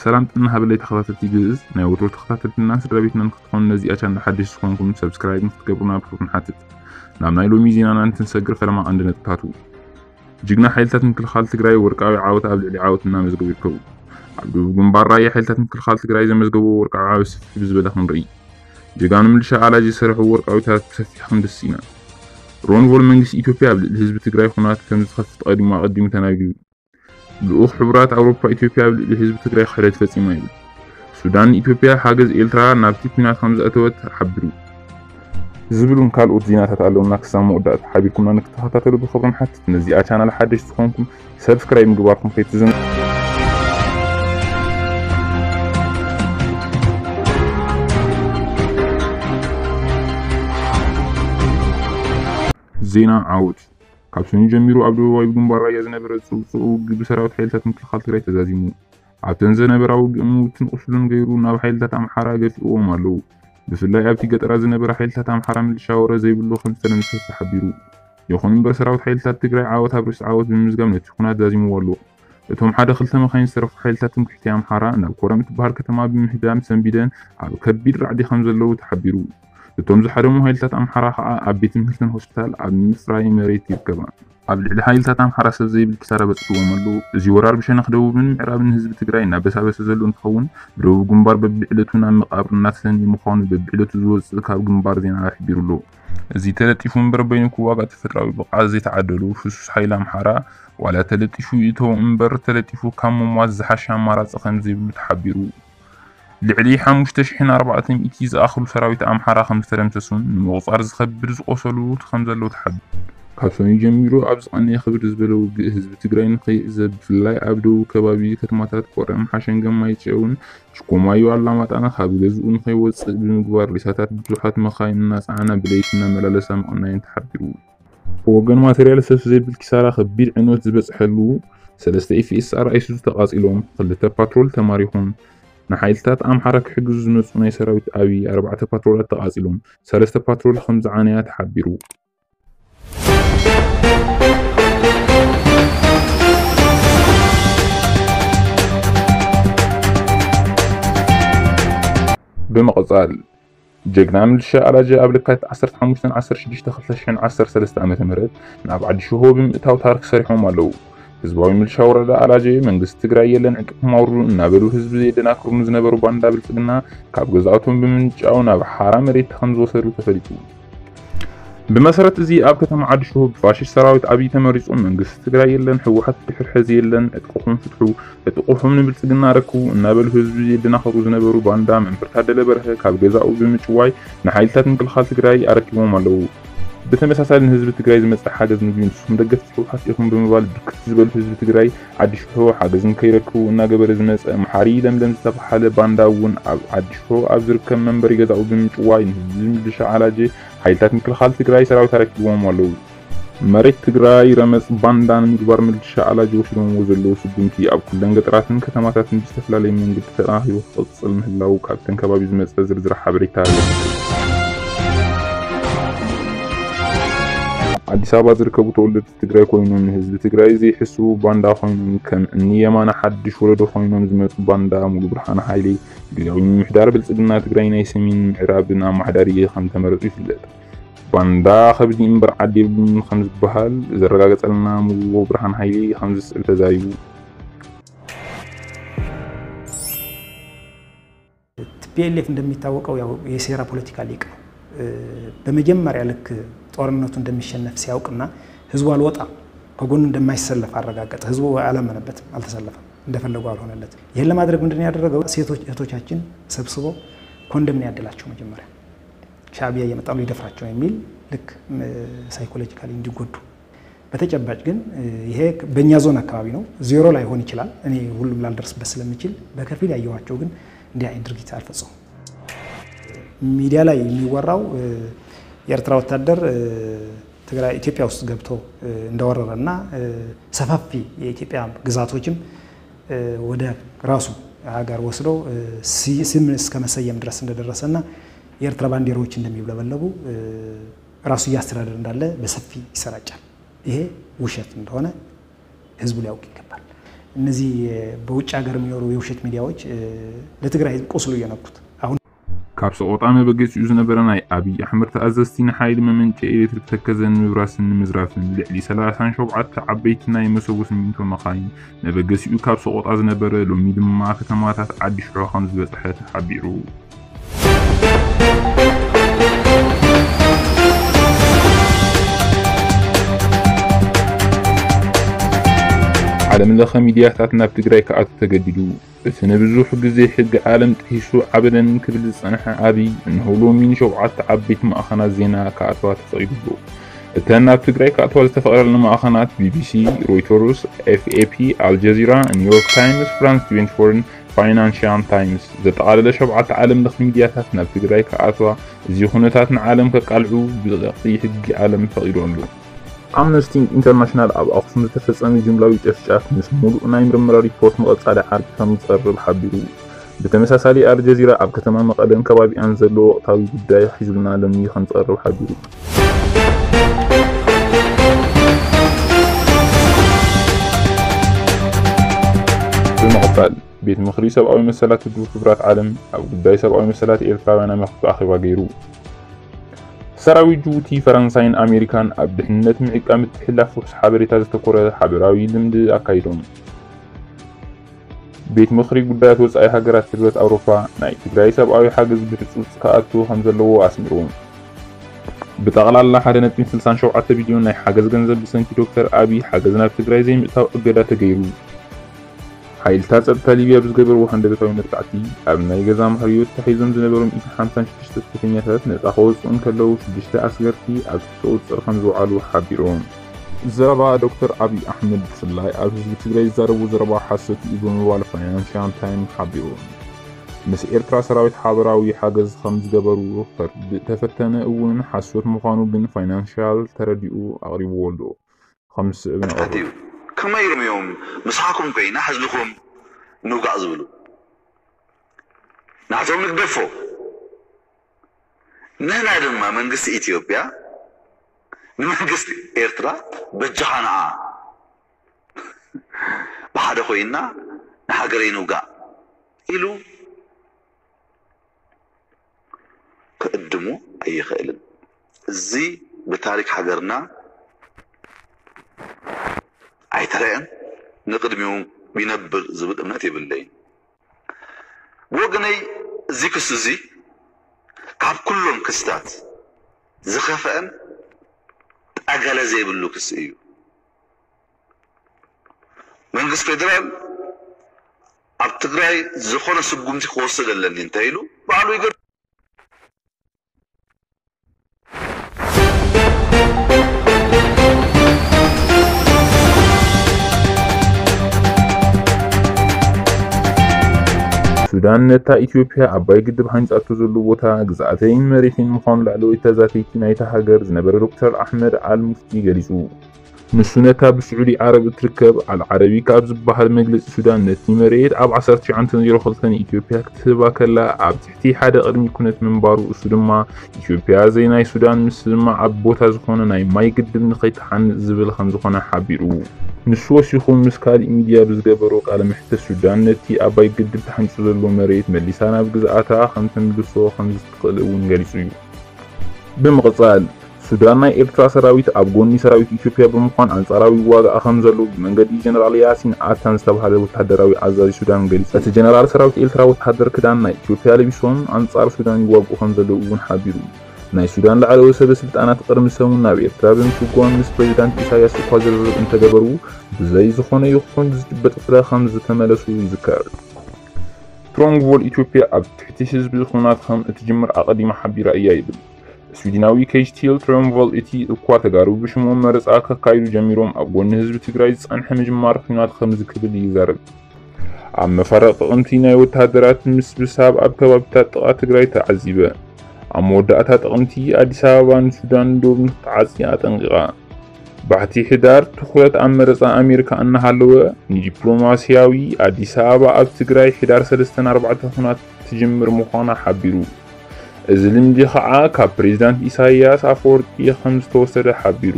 ሰላም ጥና ሃበለይ ተኸታተልቲ ግእዝ፣ ናይ ወትሮ ተኸታተልትና ስድራ ቤትና ንክትኾኑ ነዚኣ ቻናል ሓደሽ ዝኾንኩም ሰብስክራይብ ንክትገብሩና ብክብሪ ንሓትት። ናብ ናይ ሎሚ ዜናና እንትንሰግር ፈለማ ቀንዲ ነጥብታቱ። ጅግና ሓይልታት ምክልኻል ትግራይ ወርቃዊ ዓወት ኣብ ልዕሊ ዓወት እናመዝገቡ ይርከቡ። ኣብ ደቡብ ግንባር ራያ ሓይልታት ምክልኻል ትግራይ ዘመዝገቡ ወርቃዊ ዓወት ስፍሕ ብዝበለ ክንርኢ። ጀጋኑ ምልሻ ኣላጅ ዝሰርሑ ወርቃዊታት ብሰፊሕ ክንድስ ኢና። ሮንቮል መንግስቲ ኢትዮጵያ ኣብ ልዕሊ ህዝቢ ትግራይ ኩናት ከም ዝኸፍት ቀዲሙ ኣቐዲሙ ተናጊሩ። ልኡኽ ሕቡራት ኣውሮፓ ኢትዮጵያ ኣብ ልዕሊ ህዝቢ ትግራይ ክሕደት ፈጺማ ይብል። ሱዳን ንኢትዮጵያ ሓገዝ ኤርትራ ናብቲ ኲናት ከም ዘእተወት ሓቢሩ። ዝብሉን ካልኦት ዜናታት ኣለውና። ክሳብ መወዳእታ ሓቢርኩምና ንክትከታተሉ ብኽብሪ ንሓትት። ነዚኣ ቻናል ሓደሽ ዝኾንኩም ሰብስክራይብ ምግባርኩም ከይትዘንግዑ። ዜና ዓወት። ካብ ሰኑይ ጀሚሩ ኣብ ደቡባዊ ግንባር ራያ ዝነበረ ጽውጽው ውግእ ብሰራዊት ሓይልታት ምክልኻል ትግራይ ተዛዚሙ። ኣብተን ዝነበራ ውግእ ምውትን ቁስሉን ገይሩ ናብ ሓይልታት ኣምሓራ ገፊእዎም ኣለዉ። ብፍላይ ኣብቲ ገጠራት ዝነበረ ሓይልታት ኣምሓራ ምልሻ ወረ ዘይብሉ ከም ዝተደምሰሰ ተሓቢሩ። ይኹን እምበር ሰራዊት ሓይልታት ትግራይ ዓወት ኣብ ርእሲ ዓወት ብምምዝጋብ ነቲ ኩናት ዛዚምዎ ኣሎ። እቶም ሓደ ክልተ መኻይን ዝተረፉ ሓይልታት ትምክሕቲ ኣምሓራ ናብ ኮረም እትበሃል ከተማ ብምህዳም ሰንቢደን ኣብ ከቢድ ራዕዲ ከም ዘለዉ ተሓቢሩ። እቶም ዝሓደሙ ሓይልታት ኣምሓራ ከኣ ኣብ ቤት ትምህርትን ሆስፒታል ኣብ ምፍራይ መሬት ይርከባ። ኣብ ልዕሊ ሓይልታት ኣምሓራ ሰብ ዘይብል ኪሳራ በጺሕዎም ኣለዉ። እዚ ወራር ብሸነኽ ደቡብን ምዕራብን ህዝቢ ትግራይ እናበሳበሰ ዘሎ እንትኸውን፣ ብደቡብ ግንባር በብዕለቱ ናብ መቓብር እናተሰንየ ምዃኑ በብዕለቱ ዝወጽእ ካብ ግንባር ዜና ኣሕቢሩ ኣሎ። እዚ ተለጢፉ እምበር በይኑ ክዋጋእ ተፈጥራዊ ብቕዓት ዘይተዓደሉ ፍሱስ ሓይሊ ኣምሓራ ዋላ ተለጢፉ ይእተው እምበር ተለጢፉ ካብ ምሟት ዝሓሸ ኣማራጺ ከም ዘይብሉ ተሓቢሩ። ልዕሊ ሓሙሽተ ሽሕን ኣርባዕተ ሚእቲ ዝኣኽሉ ሰራዊት ኣምሓራ ከም ዝተደምሰሱን ንምቑጻር ዝኸብድ ዝቆሰሉ ከም ዘለዉ ተሓቢሩ። ካብ ሰኑይ ጀሚሩ ኣብ ዝቐነየ ክብድ ዝበለ ውግእ ህዝቢ ትግራይ ንኸይዕዘብ ብፍላይ ኣብ ደቡብ ከባቢ ከተማታት ኮረም፣ ሓሸንገን ማይጨውን ሽኮማዩ ኣላማጣን ካብ ገዝኡ ንኸይወጽእ ብምግባር ሬሳታት ብዙሓት መኻይን እናጸዓና ብለይቲ እናመላለሳ ምቕናየን ተሓቢሩ። ብወገን ማተርያል ሰብ ዘይብል ኪሳራ ከቢድ ዕንወት ዝበጽሐሉ ሰለስተ ኤፍ ኤስ ኣር ኣይሱዙ ተቓጺሎም፣ ክልተ ፓትሮል ተማሪኹም። ንሓይልታት ኣምሓራ ክሕግዙ ዝመጹ ናይ ሰራዊት ኣብይ ኣርባዕተ ፓትሮላት ተቓጺሎም፣ ሰለስተ ፓትሮል ከም ዝዓነያ ተሓቢሩ። ብምቕጻል፣ ጀግና ምልሻ ኣላጀ ኣብ ለካቲት ዓሰርተ ሓሙሽተ ዓሰርተ ሽዱሽተ ክልተ ሽሕን ዓሰርተ ሰለስተ ዓመተ ምህረት ናብ ዓዲ ሽሆ ብምእታው ታሪኽ ሰሪሖም ኣለዉ። ህዝባዊ ምልሻ ወረዳ ኣላጀ መንግስቲ ትግራይ የለን ዕጥቅኹም ኣውርዱ እናበሉ ህዝቢ የደናግሩ ንዝነበሩ ባንዳ ብልጽግና ካብ ገዛእቶም ብምንጫው ናብ ሓራ መሬት ከም ዝወሰዱ ተፈሊጡ። ብመሰረት እዚ ኣብ ከተማ ዓዲ ሽሆ ብፋሽስት ሰራዊት ኣብይ ተመሪጹ መንግስቲ ትግራይ የለን፣ ህወሓት ድሕር ሕዚ የለን፣ ዕጥቅኹም ፍትሑ፣ ዕጥቅኹም ንብልጽግና ኣረክቡ እናበሉ ህዝቢ የደናኽሩ ዝነበሩ ባንዳ መምህር ታደለ በርሀ ካብ ገዛኡ ብምጭዋይ ንሓይልታት ምክልኻል ትግራይ ኣረኪቦም ኣለዉ። ብተመሳሳሊ ንህዝቢ ትግራይ ዝመጽእ ሓገዝ ምግቢ ንስኹም ደገፍቲ ህወሓት ኢኹም ብምባል ብርክት ዝበሉ ህዝቢ ትግራይ ዓዲ ሽሆ ሓገዝ ንከይረክቡ እናገበረ ዝመጸ መሓሪ ለምለም ዝተባሓለ ባንዳ እውን ኣብ ዓዲ ሽሆ ኣብ ዝርከብ መንበሪ ገዛኡ ብምጭዋይ ንህዝቢ ምልሻ ኣላጀ ሓይልታት ምክልኻል ትግራይ ሰራዊት ኣረኪቦም ኣለዉ። መሬት ትግራይ ረመጽ ባንዳ ንምግባር ምልሻ ኣላጀ ወሲዶምዎ ዘለዉ ስጉምቲ ኣብ ኩለን ገጠራትን ከተማታትን ብዝተፈላለየ መንገዲ ተጠናኺሩ ክቕጽል ምህላዉ ካብተን ከባቢ ዝመጸ ዝርዝር ሓበሬታ የመልክት። ኣዲስ ኣበባ ዝርከቡ ተወለድቲ ትግራይ ኮይኖም ንህዝቢ ትግራይ ዘይሕስቡ ባንዳ ኮይኖም ከም እኒ የማነ ሓድሽ ወለዶ ኮይኖም ዝመጹ ባንዳ ሙሉ ብርሃን ሃይሌ ግዝያዊ ምምሕዳር ብልጽግና ትግራይ ናይ ሰሜን ምዕራብን ኣማሓዳሪ ከም ተመረጹ ይፍለጥ። ባንዳ ከብዲ እምበር ዓዲ የብሉን ከም ዝበሃል ዘረጋገጸልና ሙሉ ብርሃን ሃይሌ ከም ዝስዕብ ተዛሪቡ። ቲ ፒ ኤል ኤፍ እንደሚታወቀው ያው የሴራ ፖለቲካ ሊቅ ነው። በመጀመሪያ ልክ ጦርነቱ እንደሚሸነፍ ሲያውቅና ህዝቡ አልወጣም ከጎኑ እንደማይሰለፍ አረጋገጠ። ህዝቡ አላመነበትም፣ አልተሰለፈም፣ እንደፈለጉ አልሆነለትም። ይህን ለማድረግ ምንድን ነው ያደረገው? ሴቶች እህቶቻችን ሰብስቦ ኮንደም ነው ያደላቸው። መጀመሪያ ሻዕቢያ እየመጣ ነው ሊደፍራቸው የሚል ልክ ሳይኮሎጂካሊ እንዲጎዱ። በተጨባጭ ግን ይሄ በእኛ ዞን አካባቢ ነው፣ ዜሮ ላይሆን ይችላል፣ እኔ ሁሉም ላልደርስበት ስለምችል በከፊል ያየኋቸው ግን እንዲህ አይነት ድርጊት አልፈጸሙም። ሚዲያ ላይ የሚወራው የኤርትራ ወታደር ትግራይ ኢትዮጵያ ውስጥ ገብቶ እንደወረረና ሰፋፊ የኢትዮጵያ ግዛቶችም ወደ ራሱ ሀገር ወስዶ ስም እስከ መሰየም ድረስ እንደደረሰና የኤርትራ ባንዲራዎች እንደሚውለበለቡ ራሱ እያስተዳደር እንዳለ በሰፊ ይሰራጫል። ይሄ ውሸት እንደሆነ ህዝቡ ሊያውቅ ይገባል። እነዚህ በውጭ ሀገር የሚኖሩ የውሸት ሚዲያዎች ለትግራይ ህዝብ ቁስሉ እየነኩት አሁን ካብ ሰቆጣ መበገሲኡ ዝነበረ ናይ ኣብይ ኣሕመድ ተኣዘዝቲ ንሓይሊ መመንጨ ኤሌክትሪክ ተከዘን ምብራስን ንምዝራፍን ልዕሊ ሰላሳን ሸውዓተ ዓበይቲ ናይ መሰቦ ስሚንቶ መኻይን መበገሲኡ ካብ ሰቆጣ ዝነበረ ሎሚ ድማ ከተማታት ዓዲ ሽሖ ከም ዝበፅሐ ተሓቢሩ። ዓለም ለኸ ሚድያታት ናብ ትግራይ ክኣቱ ተገዲዱ። እቲ ንብዙሕ ግዜ ሕጊ ዓለም ጥሒሱ ዓበደን ክብል ዝጸንሐ ኣብይ፣ እንሆ ሎሚ ንሸውዓተ ዓበይቲ ማዕኸናት ዜና ክኣትዋ ተፈቒዱሉ። እተን ናብ ትግራይ ክኣትዋ ዝተፈቐደለን ማዕኸናት ቢቢሲ፣ ሮይተርስ፣ ኤፍኤፒ፣ ኣልጀዚራ፣ ኒውዮርክ ታይምስ፣ ፍራንስ ትዌንቲ ፎርን ፋይናንሽያን ታይምስ ዘጠቓለለ ሸውዓተ ዓለም ለኸ ሚድያታት ናብ ትግራይ ክኣትዋ፣ እዚ ኩነታት ንዓለም ከቃልዑ ብረቂቕ ሕጊ ዓለም ፈቒዱ ኣሎ። ኣምነስቲ ኢንተርናሽናል ኣብ ኣኽሱም ዝተፈጸመ ጅምላዊ ጨፍጫፍ ምስ ሙሉእ ናይ ምርመራ ሪፖርት መቐጻሊ ዓርቢ ከም ዝቐርብ ሓቢሩ። ብተመሳሳሊ ኣልጀዚራ ኣብ ከተማ መቐለን ከባቢኣን ዘሎ ወቕታዊ ጉዳይ ሒዙልና ሎሚ ከም ዝቐርብ ሓቢሩ። ብምቕጻል ቤት ምኽሪ ሰብኣዊ መሰላት ውድብ ሕቡራት ዓለም ኣብ ጉዳይ ሰብኣዊ መሰላት ኤርትራውያን ኣመልኪቱ ኣኼባ ገይሩ። ሰራዊት ጅቡቲ፣ ፈረንሳይን ኣሜሪካን ኣብ ድሕነት ምዕቃብ ምትሕልላፍ ፍሑስ ሓበሬታ ዘተኮረ ሓበራዊ ልምዲ ኣካይዶም። ቤት ምኽሪ ጉዳያት ወጻኢ ሃገራት ሕብረት ኣውሮፓ ናይ ትግራይ ሰብኣዊ ሓገዝ ብህጹጽ ክኣቱ ከም ዘለዎ ኣስሚሩ። ብጠቕላላ ሓደ ነጥቢ ስልሳን ሸውዓተ ቢልዮን ናይ ሓገዝ ገንዘብ ብሰንኪ ዶክተር ኣብይ ሓገዝ ናብ ትግራይ ዘይምእታው እገዳ ተገይሩ። ሓይልታት ጸጥታ ሊብያ ብዝገበርዎ ሃንደበታዊ መጥቃዕቲ ኣብ ናይ ገዛ ማህርዮ ተታሒዞም ዝነበሩ ሚእትን ሓምሳን ሽዱሽተ ስደተኛታት ነጻ ከወጽኡ እንከለዉ ሽዱሽተ ኣስገርቲ ኣብ ትሕቲ ቁጽጽር ከም ዝወዓሉ ሓቢሮም። ዘረባ ዶክተር ኣብይ ኣሕመድ ብፍላይ ኣብ ህዝቢ ትግራይ ዝዛረቡ ዘረባ ሓሶት እዩ ብምባል ፋይናንሽያል ታይም ሓቢሩ። ምስ ኤርትራ ሰራዊት ሓበራዊ ሓገዝ ከም ዝገበሩ ከርድእ ተፈተነ እውን ሓሶት ምዃኑ ግን ፋይናንሽያል ተረዲኡ ኣቕሪብዎ ኣሎ። ከም ዝስዕብ ነቕርብ። እዩ። ከመይ ኢሎም እዮም ምሳኹም ኮይና ህዝብኹም ንውጋእ ዝብሉ? ናቶም ንግደፎ። ንሕና ድማ መንግስቲ ኢትዮጵያ ንመንግስቲ ኤርትራ በጃኻ ንዓ ብሓደ ኮይና ንሃገረይ ንውጋእ ኢሉ ክእድሙ ኣይኽእልን። እዚ ብታሪክ ሃገርና ኣይተረአን፣ ንቕድሚኡ ይነብር ዝብል እምነት የብለይን። ብወገነይ እዚ ክሲ እዚ ካብ ኩሎም ክስታት ዝኸፍአን ጠገለ ዘይብሉ ክሲ እዩ። መንግስቲ ፌደራል ኣብ ትግራይ ዝኾነ ስጉምቲ ክወስድ ኣለኒ እንተ ኢሉ ባዕሉ ይገ- ሱዳን ነታ ኢትዮጵያ ኣባይ ግድብ ሃንጻቶ ዘሎ ቦታ ግዝኣተይን መሬተይን ምዃኑ ላዕለወይ ተዛተይቲ ናይታ ሃገር ዝነበረ ዶክተር ኣሕመድ ኣል ሙፍቲ ገሊጹ። ንሱ ነታ ብስዑዲ ዓረብ እትርከብ ኣል ዓረቢካ ኣብ ዝበሃል መግለጺ ሱዳን ነቲ መሬት ኣብ ዓሰርተ ትሽዓተ ዜሮ ክልተ ንኢትዮጵያ ክትህባ ከላ ኣብ ትሕቲ ሓደ ቅድሚ ኩነት ምንባሩ እሱ ድማ ኢትዮጵያ ዘይናይ ሱዳን ምስማዕ ኣብ ቦታ ዝኾነ ናይ ማይ ግድብ ንኸይትሓንጽ ዝብል ከም ዝኾነ ሓቢሩ። ንሱ ወሲኹ ምስ ካሊእ ሚድያ ብዝገበሮ ቃለ መሕትት ሱዳን ነቲ ኣባይ ግድብ ተሓንጹ ዘሎ መሬት መሊሳ ናብ ግዝኣታ ከም ተምልሶ ከም ዝትኽእል እውን ገሊጹ እዩ። ብምቕጻል ሱዳን ናይ ኤርትራ ሰራዊት ኣብ ጎኒ ሰራዊት ኢትዮጵያ ብምዃን ኣንጻራዊ ዋጋኣ ከም ዘሎ ብመንገዲ ጀነራል ያሲን ኣታን ዝተባህለ ወታደራዊ ኣዛዚ ሱዳን ገሊጹ። እቲ ጀነራል ሰራዊት ኤርትራ ወታደር ክዳን ናይ ኢትዮጵያ ለቢሶም ኣንጻር ሱዳን ይዋግኡ ከም ዘለዉ እውን ሓቢሩ። ናይ ሱዳን ላዕለዎት ሰበ ስልጣናት ቅድሚ ሰሙን ናብ ኤርትራ ብምስጓም ምስ ፕሬዚዳንት ኢሳያስ እኳ ዝርርብ እንተገበሩ ብዘይ ዝኾነ ይኹን ዝጭበጥ ፍረ ከም ዝተመለሱ ይዝከር። ትሮንግቮል ኢትዮጵያ ኣብ ትሕቲ ህዝቢ ኹናት ከም እትጅምር ኣቐዲማ ሓቢራ እያ ይብል። ስዊድናዊ ኬጅቲል ትሮንግቮል እቲ እኳ ተጋሩ ብሽሞም መረፃ ከካይዱ ጀሚሮም ኣብ ጎኒ ህዝቢ ትግራይ ዝፀንሐ ምጅማር ኹናት ከምዚ ክብል ይዛረብ። ኣብ መፋረቕ ጥቕምቲ ናይ ወታደራት ምስብሳብ ኣብ ከባቢታት ጥቓ ትግራይ ተዓዚበ። ኣብ መወዳእታ ጥቕምቲ ኣዲስ ኣበባ ንሱዳን ዶብ ንክትዓፂ ኣጠንቂቓ። ባሕቲ ሕዳር ትኹረት ኣብ መረፃ ኣሜሪካ እናሃለወ ንዲፕሎማስያዊ ኣዲስ ኣበባ ኣብ ትግራይ ሕዳር ሰለስተን ኣርባዕተን ኹናት ትጅምር ምዃና ሓቢሩ። እዚ ልምዲ ከዓ ካብ ፕሬዚዳንት ኢሳያስ ኣፈወርቂ ከም ዝተወሰደ ሓቢሩ።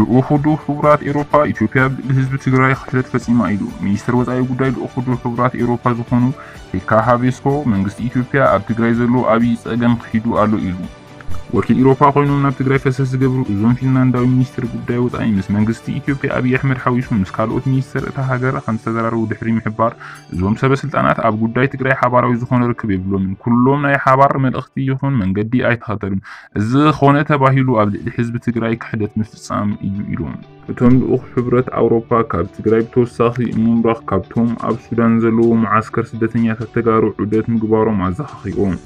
ልኡኽ ውድብ ሕቡራት ኤውሮፓ ኢትዮጵያ ብልዕሊ ህዝቢ ትግራይ ክሕደት ፈጺማ ኢሉ። ሚኒስትር ወጻኢ ጉዳይ ልኡኽ ውድብ ሕቡራት ኤውሮፓ ዝኾኑ ፔካ ሃቬስኮ መንግስቲ ኢትዮጵያ ኣብ ትግራይ ዘሎ ዓብዪ ጸገም ክሒዱ ኣሎ ኢሉ። ወኪል ኤውሮፓ ኮይኖም ናብ ትግራይ ፈሰስ ዝገብሩ እዞም ፊንላንዳዊ ሚኒስትር ጉዳይ ወጻኢ ምስ መንግስቲ ኢትዮጵያ ኣብይ ኣሕመድ ሓዊሱ ምስ ካልኦት ሚኒስትር እታ ሃገር ከም ዝተዘራረቡ ድሕሪ ምሕባር እዞም ሰበ ስልጣናት ኣብ ጉዳይ ትግራይ ሓባራዊ ዝኾነ ርክብ የብሎምን። ኩሎም ናይ ሓባር መልእኽቲ ይኹን መንገዲ ኣይተኸተሉን። እዚ ኾነ ተባሂሉ ኣብ ልዕሊ ህዝቢ ትግራይ ክሕደት ምፍጻም እዩ ኢሎም። እቶም ልኡኽ ሕብረት ኣውሮፓ ካብ ትግራይ ብተወሳኺ ምምራኽ ካብቶም ኣብ ሱዳን ዘለዉ መዓስከር ስደተኛታት ተጋሩ ዑደት ምግባሮም ኣዘኻኺሮም።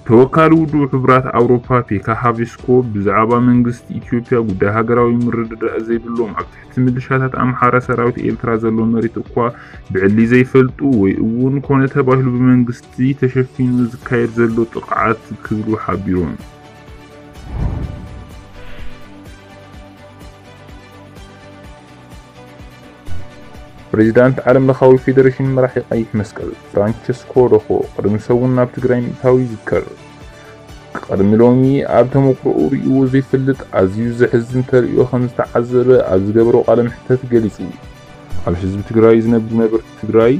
ተወካሊ ውድብ ሕብራት ኣውሮፓ ፔካ ሃቪስኮ ብዛዕባ መንግስቲ ኢትዮጵያ ጉዳይ ሃገራዊ ምርድዳእ ዘይብሎም ኣብ ትሕቲ ምልሻታት ኣምሓራ ሰራዊት ኤርትራ ዘሎ መሬት እኳ ብዕሊ ዘይፈልጡ ወይ እውን ኮነ ተባሂሉ ብመንግስቲ ተሸፊኑ ዝካየድ ዘሎ ጥቕዓት ክብሉ ሓቢሮም። ፕሬዚዳንት ዓለም ለኻዊ ፌዴሬሽን መራሒ ቀይሕ መስቀል ፍራንቸስኮ ሮኾ ቅድሚ ሰሙን ናብ ትግራይ ምእታው ይዝከር። ቅድሚ ሎሚ ኣብ ተመክሮኡ ርእይዎ ዘይፈልጥ ኣዝዩ ዘሕዝን ተርእዮ ከም ዝተዓዘበ ኣብ ዝገበሮ ቃለ መሕተት ገሊጹ። ኣብ ህዝቢ ትግራይ ዝነብሩ ነበርቲ ትግራይ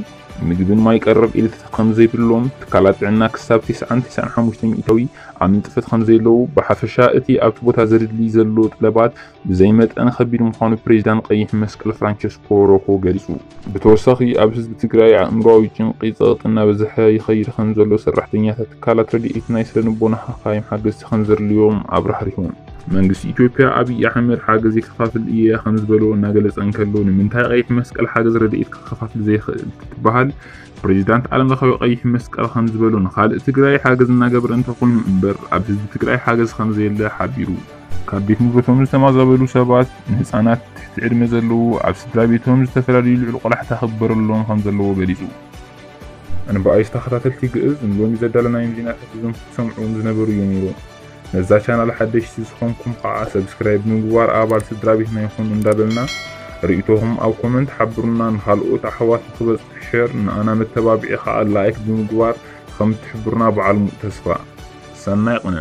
ምግብን ማይ ቀረብ ኢልት ከም ዘይብሎም፣ ትካላት ጥዕና ክሳብ ተስዓን ተስዓን ሓሙሽተ ሚእታዊ ኣብ ንጥፈት ከም ዘየለዉ፣ ብሓፈሻ እቲ ኣብቲ ቦታ ዘድሊ ዘሎ ጠለባት ብዘይ መጠን ከቢድ ምዃኑ ፕሬዚዳንት ቀይሕ መስቀል ፍራንቸስኮ ሮኮ ገሊጹ። ብተወሳኺ ኣብ ህዝቢ ትግራይ ኣእምሮኣዊ ጭንቂ ጸቕጢ እናበዝሐ ይኸይድ ከም ዘሎ ሰራሕተኛታት ትካላት ረድኤት ናይ ስነ ልቦና ሓካይም ሓገዝቲ ከም ዘድልዮም ኣብራህሪሆም። መንግስቲ ኢትዮጵያ ኣብይ ኣሕመድ ሓገዝ የከፋፍል እየ ከም ዝበሎ እናገለጸ እንከሎ ንምንታይ ቀይሕ መስቀል ሓገዝ ረድኤት ከከፋፍል ዘይኽእል ትበሃል? ፕሬዚዳንት ዓለም ለኻዊ ቀይሕ መስቀል ከም ዝበሎ ንኻልእ ትግራይ ሓገዝ እናገበረ እንተኾይኑ እምበር ኣብ ህዝቢ ትግራይ ሓገዝ ከም ዘየለ ሓቢሩ። ካብ ቤት ንብረቶም ዝተማዛበሉ ሰባት ንህፃናት ትሕቲ ዕድመ ዘለዉ ኣብ ስድራ ቤቶም ዝተፈላለዩ ልዑል ቆላሕታ ክግበረሎም ከም ዘለዎ ገሊፁ። ኣንበኣይስ ተኸታተልቲ ግእዝ ንሎሚ ዘዳለናዮም ዜናታት እዞም ክትሰምዑዎም ዝነበሩ እዮም ነይሮም። ነዛ ቻናል ሓደሽቲ ዝኾንኩም ከዓ ሰብስክራይብ ብምግባር ኣባል ስድራ ቤትና ይኹኑ እንዳበልና ርእይቶኹም ኣብ ኮመንት ሓብሩና ንኻልኦት ኣሕዋት ንክበፅሕ ሸር ንኣና መተባብዒ ከዓ ላይክ ብምግባር ከም ትሕብሩና በዓል ሙሉእ ተስፋ። ሰናይ ቅነ።